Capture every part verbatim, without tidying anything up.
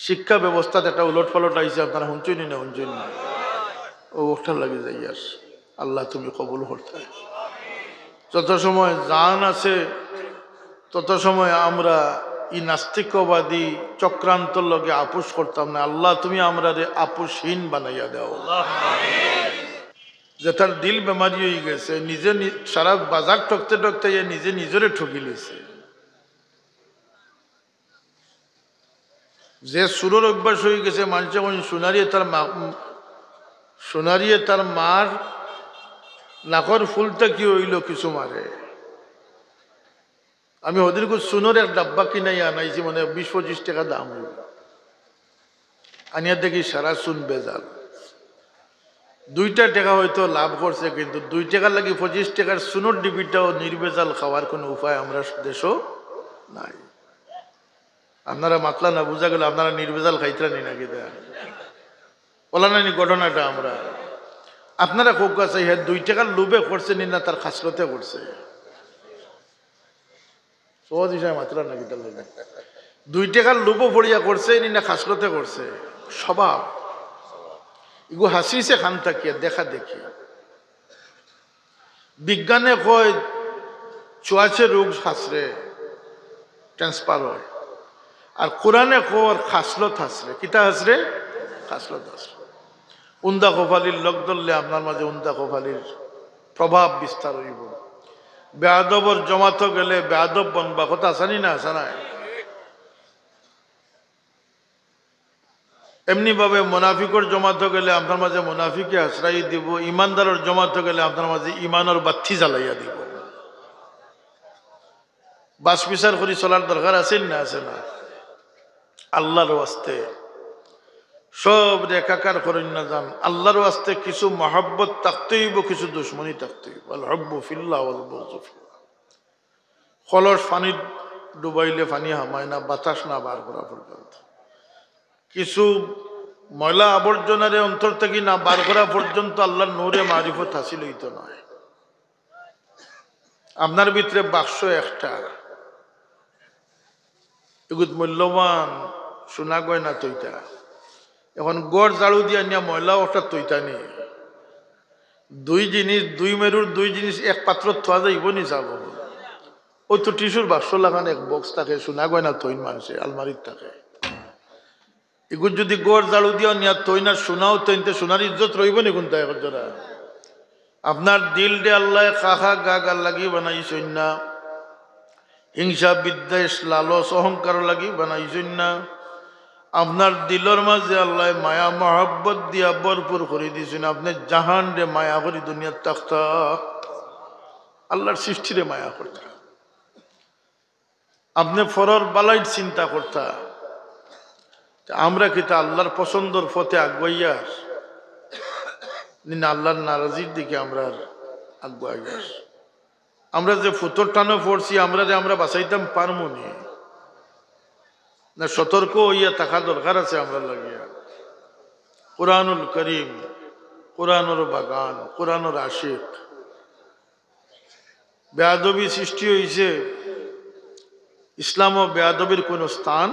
শিক্ষা ব্যবস্থাত একটা উলট পালট আইছে, আপনারা হুনছইন নি না হুনছইন না? ও ওটার লাগি যাই আর। আল্লাহ তুমি কবুল করতে। যত সময় জান আছে তত সময় আমরা ই নাস্তিকবাদী চক্রান্তর লগে আপোষ করতাম না। আল্লাহ তুমি আমরারে আপোষহীন বানাইয়া দাও। যেটার দিল বেমারি হয়ে গেছে, নিজে নি-, সারা বাজার ঠকতে ঠকতে ইয়ে নিজে নিজরে ঠকি লিছে। যে সুরর অভ্যাস হয়ে গেছে, মানষে কইন সোনারিয়ে তার মা, সোনারিয়ে তার মার নাকর ফুলটা কি হইল কিছু মারে। আমি হদিন কো সুনর এক ডাব্বা কিনাই আনাইছি, মানে বিশ পঁচিশ টাকা দাম হইল। আনিয়া দেখি সারা সুন বেজাল। দুইটা টাকা হয়তো লাভ করছে, কিন্তু দুই টাকার লাগি পঁচিশ টাকার সুনর ডিবিটাও নির্বেজাল খাওয়ার কোনো উপায় আমরা দেশও নাই। আপনারা মাতলা না, বুঝা গেল আপনারা নির্বেজাল খাইতরা নি নাকি? দা ওলা নানি ঘটনাটা আমরা, আপনারা কউক্কা চাই, হ্যাঁ, দুই টাকার লোভে করছে নি না তার খাসলতে করছে? সহজ হিসাবে মাতলা নাকি তার লগে? দুই টাকার লোভও পড়িয়া করছে নি না খাসলতে করছে? স্বভাব। এগু হাসিছে খান থাকিয়া দেখা দেখি। বিজ্ঞানে কয় চুয়াশে রোগ হাসরে ট্রান্সফার হয়, আর কোরআনে কয় খাসলত হাসরে। কিতা হাসরে? খাসলত হাসরে। উন্দা কপালির লোক ধরলে আপনার মাঝে উন্দা কপালির প্রভাব বিস্তার হইব। বেয়াদবর জমাতো গেলে বেয়াদব বনবা, কথা আসানি না আসানায়? এমনি ভাবে মুনাফিকর জমাতো গেলে আপনার মাঝে মুনাফিকে আশ্রয় দিব, ইমানদারর জমাতো গেলে আপনার মাঝে ইমানর বাত্তি জ্বালাইয়া দিব। বাস বিচার করি চলার দরকার আছে না আছে না? আল্লাহর ওয়াস্তে সব রেখাকার করেন না যান। আল্লাহর ওয়াস্তে কিছু মহব্বত থাকতে হইব, কিছু দুশমনি থাকতে হইব। আল হব্বু ফিল্লাহ ওয়াল বুগযু ফিল্লাহ। কলস পানিত ডুবাইলে পানি হামায় না, বাতাস না বার করা পর্যন্ত। কিছু ময়লা আবর্জনারে অন্তর থাকি না বার করা পর্যন্ত আল্লাহর নূরে মারিফত হাসিল হইতো নয়। আপনার ভিতরে বাক্স একটা, এগুত মূল্যবান সোনা গয়না থইতা। এখন ঘর ঝাড়ু দিয়া নিয়া ময়লা ওটা থইতা নি। দুই জিনিস, দুই মেরুর দুই জিনিস এক পাত্র থোয়া যাইব নি যাব? ওই তো টিস্যুর বাক্স লাগান এক বক্স থাকে, সোনা গয়না থইন মানষে আলমারিত থাকে। এগুত যদি ঘর ঝাড়ু দিয়া নিয়া থইন আর সোনাও থইন, তে সোনার ইজ্জত রইব নি কোনটা এখন জোড়া? আপনার দিলরে আল্লাহ খাখা গা গার লাগি বানাইছইন না, হিংসা বিদ্বেষ লালস অহংকার লাগি বানাইছইন না। আপনার দিলর মাঝে আল্লাহ মায়া মহব্বত দিয়া ভরপুর করি দিছইন। আপনে জাহানরে মায়া করি দুনিয়াত থাকতা, আল্লাহর সৃষ্টিরে মায়া করতা। আপনে পরর বালাইর চিন্তা করতা। তে আমরা কিতা আল্লাহর পছন্দর পথে আগুয়াইয়ার, নি না আল্লাহর নারাজির দিকে আমরা আগুয়াইয়ার? আমরা যে ফুতর টানো পড়ছি, আমরারে আমরা বাঁচাইতাম পারমু নি? না, সতর্ক হইয়া থাকা দরকার আছে আমরা লাগিয়া। কোরআনুল করিম, কোরআনর বাগান, কোরআনর আশিক। বেয়াদবি সৃষ্টি হইছে, ইসলামও বেয়াদবির কোনো স্থান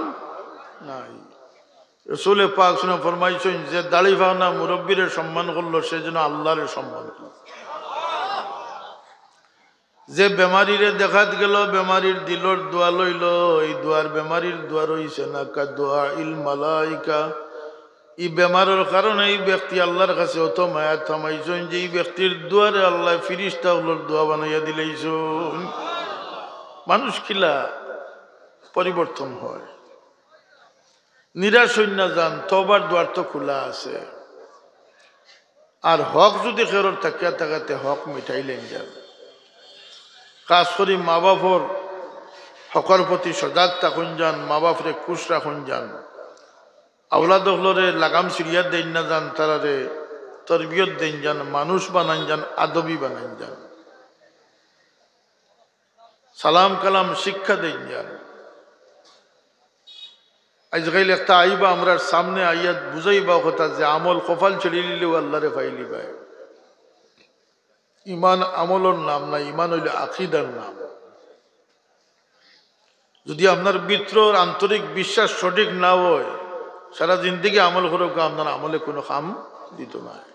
নাই। রসুলে পাক শুনে ফরমাইছেন, যে দাড়ি ফাওনা মুরব্বীরে সম্মান করলো, সে যেন আল্লাহরে সম্মান করলো। যে বেমারিরে দেখাত গেল, বেমারির দিলর দোয়া লইল, এই দোয়ার বেমারির দোয়া রইছে না, কা দোয়া ইল মালাইকা। এই বেমারর কারণে এই ব্যক্তি আল্লাহর কাছে অত মায়া থামাইছইন যে এই ব্যক্তির দোয়ারে আল্লাহ ফিরিস্তা অকলর দোয়া বানাইয়া দিলাইছইন। মানুষ কিলা পরিবর্তন হয়, নিরাশ হইন না যান, তওবার দোয়ার তো খোলা আছে। আর হক যদি কেউর থাকিয়া থাকে, তে হক মিটাইলেন যান। খাস করি মা বাপর হকর প্রতি সজাগ থাকুন যান, মা বাপরে খুশ রাখুন যান। আওলাদ অকলরে লাগাম ছিড়িয়া দেইন না যান, তারারে তরবিয়ত দেইন যান, মানুষ বানাইন যান, আদবি বানাইন যান। সালাম কালাম শিক্ষা দেইন যান। আজকাল একটা আইবা আমরার সামনে আইয়া বুঝাইবা কথা যে আমল কপাল ছিড়িলিলেও আল্লাহরে পাইলিবায়। ইমান আমলর নাম না, ইমান হইল আকিদার নাম। যদি আপনার ভিতরর আন্তরিক বিশ্বাস সঠিক না হয়, সারা জিন্দেগি আমল করউক্কা, আপনার আমলে কুনু কাম দিতো নায়।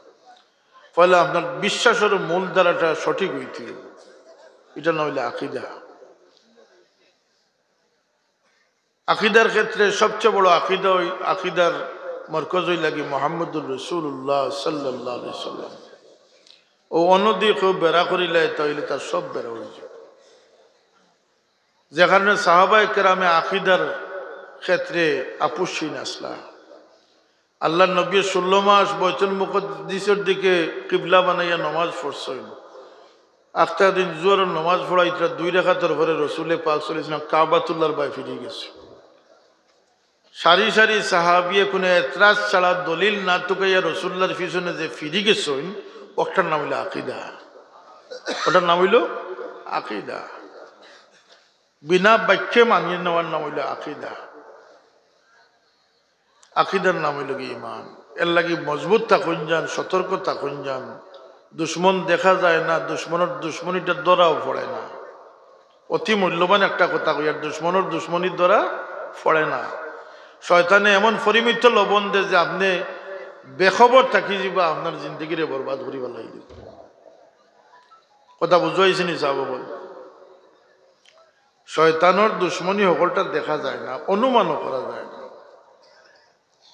পয়লা আপনার বিশ্বাসর মূল ধারাটা সঠিক অইতে অইবো, ইটার নাম অইলো আকিদা। আকিদার ক্ষেত্রে সবচেয়ে বড় আকিদা অই-, আকিদার মরকজ অইলা গি মুহাম্মদুর রাসূলুল্লাহ সাল্লাল্লাহু আলাইহি ওয়াসাল্লাম। অউ অন্যদিকে কেউ বেড়া করিলায়, তাইলে তার সব বেড়া অইযায়। যে কারণে সাহাবায়ে কেরামে আকিদার ক্ষেত্রে আপসহীন আছলা। আল্লার নবীয়ে ষোলো মাস বাইতুল মুকাদ্দিসর দিকে কিবলা বানাইয়া নমাজ পড়ছইন। আখতা দিন জোহরর নমাজ পড়াইতরা দুই রাকাতর পরে রসুলে পাক সাল্লাল্লাহু আলাইহি ওয়াসাল্লাম কাবাতুল্লাহর বায় ফিরি গেছে। সারি সারি সাহাবিয়ে কুনু এতরাজ ছাড়া, দলিল না তুকাইয়া রসুলুল্লাহর পিছনে যে ফিরি গেছইন, অটার নাম অইলো আকিদা। অটার নাম অইলো আকিদা। বিনা বাক্যে মানিয়া নেওয়ার নাম অইলো আকিদা। আকিদার নাম অইলো গি ইমান। এরলাগি মজবুত থাকইন যান, সতর্ক থাকইন যান। দুশমন দেখা যায় না, দুশমনর দুশমনিটা ধরাও পড়ে না। অতি মূল্যবান একটা কথা কইয়ার, দুশমনর দুশমনি ধরা পড়ে না। শয়তানে এমন পরিমিত লবণ দেয় যে আপনে বেখবর থাকি যিবা, আপনার জিন্দেগিরে বরবাদ করি ফালাইলিবো। কথা বুঝাইছি নি সাব অকল? শয়তানর দুশমনি হকলটা দেখা যায় না, অনুমানও করা যায় না,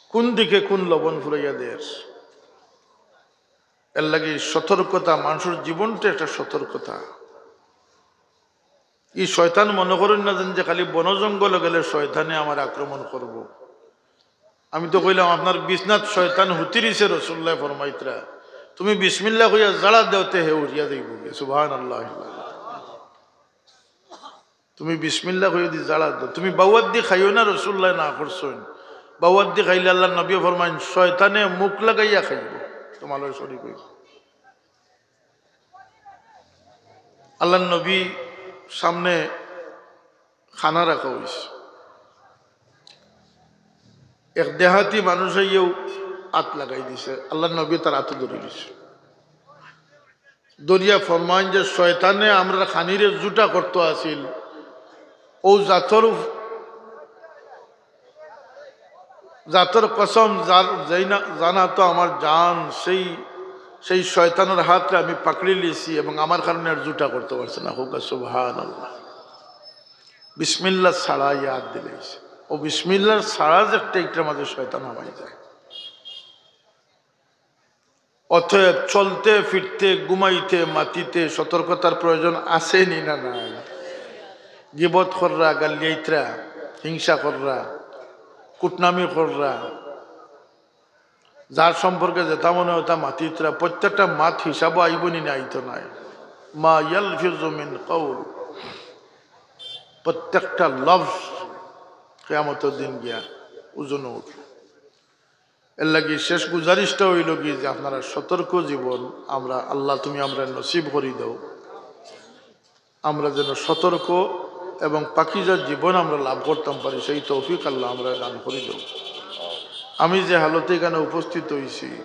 কুন দিকে কুন লবণ ফুরাইয়া দের। এরলাগি সতর্কতা, মানষর জীবনটা একটা সতর্কতা। ই শয়তান মনে করইন না যেন যে খালি বন জঙ্গলো গেলে শয়তানে আমার আক্রমণ করবো। আমি তো কইলাম, আপনার বিছনাত শয়তান হুতিরিছে, রসুলুল্লায় ফরমাইতরা, তুমি বিসমিল্লাহ কইয়া জাড়া দেওতে হে উড়িয়া যাইবোগি। সুবহানাল্লাহ। তুমি বিসমিল্লাহ কইয়া দি জাড়া দেও। তুমি বাউয়াদ্দি খাইও না, রসুলুল্লায় না করছইন। বাউয়াদ্দি খাইলে আল্লার নবীয়ে ফরমাইন, শয়তানে মুখ লাগাইয়া খাইবো, তুমার লগে শরিক অইবো। আল্লার নবী সামনে খানা রাখা অইছে। এক দেহাতি মানুষ আইয়াউ আত লাগাই দিছে, আল্লার নবী তার আতো ধরি দিছে। ধরিয়া ফরমাইন যে, শয়তানে আমরার খানিরে জুটা করতো আছিল, অউ জাতর উপ-, জাতর কসম, যার, যেই না, জানা তো আমার জান, সেই, সেই শয়তানর হাতরে আমি পাকড়ি লিছি এবং আমার কারণে আর জুটা করতো পারছে না। কউক্কা সুবহানাল্লাহ। বিসমিল্লাহ ছাড়া ইয়াদ দিলাইছে। অউ বিসমিল্লাহ ছাড়া যে একটা ইটার মাঝে শয়তান হামাই যায়। অতএব চলতে ফিরতে, ঘুমাইতে, মাতিতে সতর্কতার প্রয়োজন আছে নি না নাই? গিবত কররা, গালিয়াইতরা, হিংসা কররা, কুটনামি কররা, যার সম্পর্কে যেটা মনে হয় তা মাতিতরা, প্রত্যেকটা মাত হিসাবো আইবো নি না আইতো নায়? মা ইয়ালফিজু মিন কাউল, প্রত্যেকটা লফজ কিয়ামতর দিন গিয়া ওজনো উঠবো। এরলাগি শেষ গুজারিশটা অইলো গি যে আপনারা সতর্ক জীবন, আমরা, আল্লাহ তুমি আমরারে নসিব করি দেও, আমরা যেন সতর্ক এবং পাকিজা জীবন আমরা লাভ করতাম পারি, সেই তৌফিক আল্লাহ আমরারে দান করি দেও। আমি যে হালতে ইখানো উপস্থিত অইছি,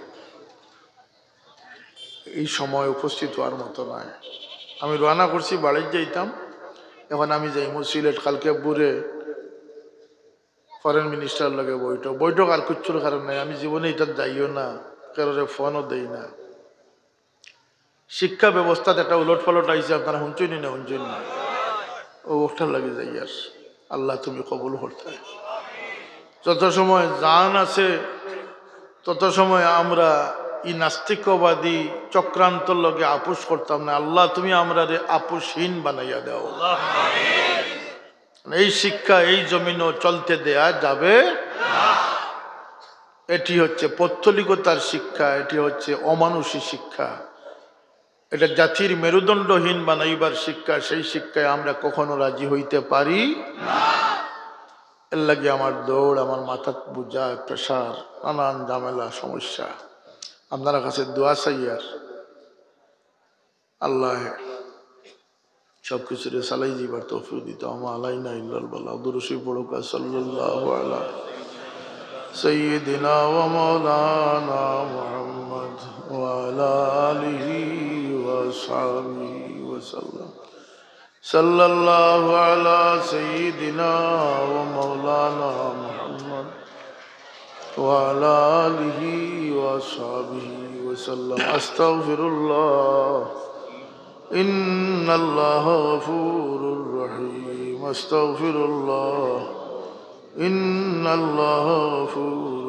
ই সময় উপস্থিত অওয়ার মতো নায়। আমি রওয়ানা করছি, বাড়িত যাইতাম, এখন আমি যাইমু সিলেট, কালকে ভোরে ফরেন মিনিস্টারর লগে বৈঠক। বৈঠক আর কিচ্ছুর কারণ নাই, আমি জীবনে ইটাত যাইও না, কেউরে ফোনও দেই না। শিক্ষা ব্যবস্থাত একটা উলটপালট আইছে, আপনারা হুনছইন নি না হুনছইন না? অউ অটার লাগি যাইয়ার। আল্লাহ তুমি কবুল করতায়। যত সময় জান আছে, তত সময় আমরা ই নাস্তিকবাদী চক্রান্তর লগে আপোষ করতাম না। আল্লাহ তুমি আমরারে আপোষহীন বানাইয়া দেও। এই শিক্ষা এই জমিনও চলতে দেয়া যাবে না। এটি হচ্ছে পৌত্তলিকতার শিক্ষা, এটি হচ্ছে অমানুষী শিক্ষা। এটা জাতির মেরুদণ্ডহীন বানাইবার শিক্ষা, সেই শিক্ষায় আমরা কখনো রাজি হইতে পারি না। এরলাগি আমার দৌড়, আমার মাথাত বুঝা, প্রেশার, নানান ঝামেলা, সমস্যা। আপনারার কাছে দোয়া চাইয়ার, আল্লাহ সব কিছুরে চালাই যাইবার তৌফিক দিতা। ওয়া মা আলাইনা ইল্লাল বালাগ। দুরূদ শরীফ পড়ুক্কা, সাল্লাল্লাহু আলা সাইয়্যিদিনা ওয়া মাওলানা মুহাম্মদ ওয়া আলা আলিহি ওয়া সাহবিহি ওয়া সাল্লাম। সাল্লাল্লাহু আলা সাইয়্যিদিনা ওয়া মাওলানা মুহাম্মদ وعلى آله وأصحابه وسلم. أستغفر الله. إن الله غفور رحيم. أستغفر الله. إن الله غفور